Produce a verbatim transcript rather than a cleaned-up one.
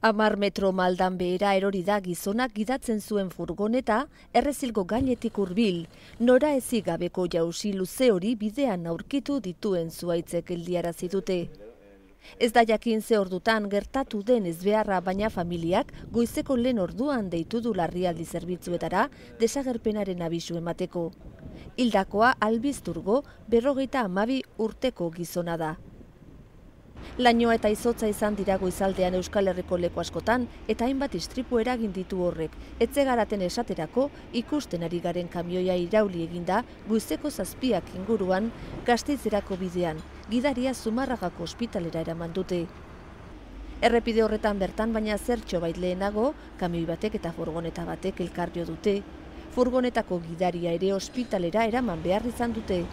Amar metro maldan behera erori da gizonak gidatzen zuen furgoneta errezilgo gainetik hurbil. Nora ezik gabeko jausi luze hori bidean aurkitu dituen zuaitzek geldiarazi dute. Ez da jakin ze ordutan gertatu den ezbeharra, baina familiak goizeko lehen orduan deitu du larrialdi zerbitzuetara desagerpenaren abisu emateko. Hildakoa Albizturgo berrogeita hamabi urteko gizona da. Lainoa eta izotza izan dira goizaldean Euskal Herriko leku askotan eta hainbat istripu eragin ditu horrek. Etxe garaten esaterako ikusten ari garen kamioia irauli eginda goizeko zazpiak inguruan Gasteizerako bidean, gidaria Zumarragako ospitalera eraman dute. Errepide horretan bertan baina zertxo bait lehenago, kamioi batek eta furgoneta batek elkar jo dute. Furgonetako gidaria ere ospitalera eraman behar izan dute.